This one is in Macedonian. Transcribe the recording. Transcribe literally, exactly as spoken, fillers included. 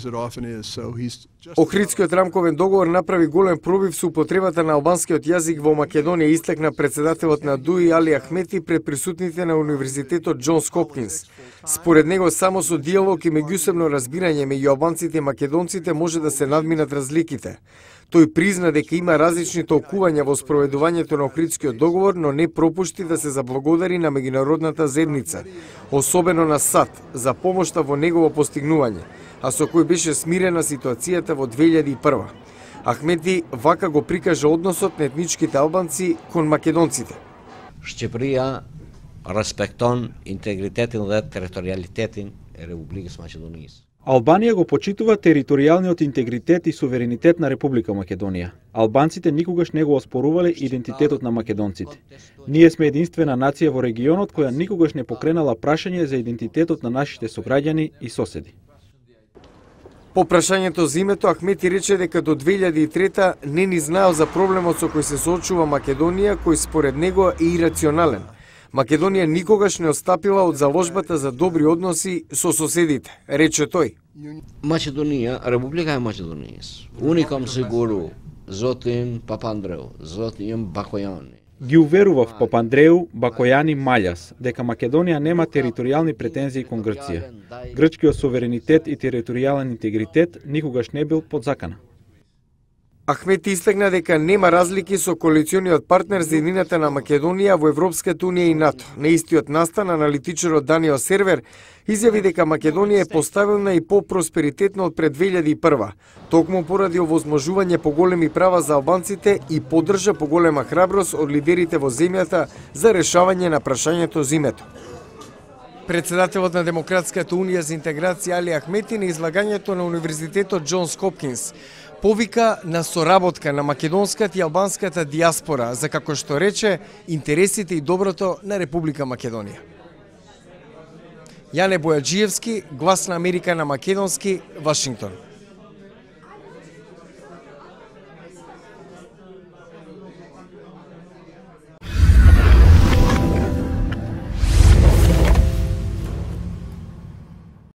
as it often is. So he's just Охридскиот рамковен договор направи голем пробив со употребата на албанскиот јазик во Македонија, истакна претседателот на ДУИ Али Ахмети пред присутните на Универзитетот Џонс Хопкинс. Според него, само со диалог и меѓусебно разбирање меѓу албанците и македонците може да се надминат разликите. Тој призна дека има различни толкувања во спроведувањето на Охридскиот договор, но не пропушти да се заблагодари на меѓународната заедница, особено на САД, за помошта во негово постигнување, а со кој беше смирена ситуацијата во две илјади и прва. Ахмети вака го прикажа односот на етничките албанци кон македонците. Шqipëria respekton integritetin dhe territorialitetin e Republikës Maqedonisë. Албанија го почитува територијалниот интегритет и суверенитет на Република Македонија. Албанците никогаш не го оспорувале идентитетот на македонците. Ние сме единствена нација во регионот која никогаш не покренала прашање за идентитетот на нашите сограѓани и соседи. По прашањето за името, Ахмети рече дека до две илјади и трета не ни знаел за проблемот со кој се соочува Македонија, кој според него е ирационален. Македонија никогаш не отстапила од заложбата за добри односи со соседите, рече тој. Maqedonia, Republika e Maqedonisë. Unë i kam siguru zotin Papandreou, zotin Bakojani. Ги уверував Папандреу, Бакојани, Маљас дека Македонија нема територијални претензии кон Грција. Грчкиот суверенитет и територијален интегритет никогаш не бил под закана. Ахмети истакна дека нема разлики со коалициониот партнер за едината на Македонија во Европската унија и НАТО. На истиот настан, аналитичарот Даниел Сервер изјави дека Македонија е поставена и по-просперитетна од пред две илјади и прва, токму поради овозможување поголеми права за албанците и поддржа поголема храброст од лидерите во земјата за решавање на прашањето за името. Председателот на Демократската унија за интеграција Али Ахмети на излагањето на Универзитетот Џонс Хопкинс повика на соработка на македонската и албанската диаспора за, како што рече, интересите и доброто на Република Македонија. Јане Бојаджиевски, Глас на Америка на македонски, Вашингтон.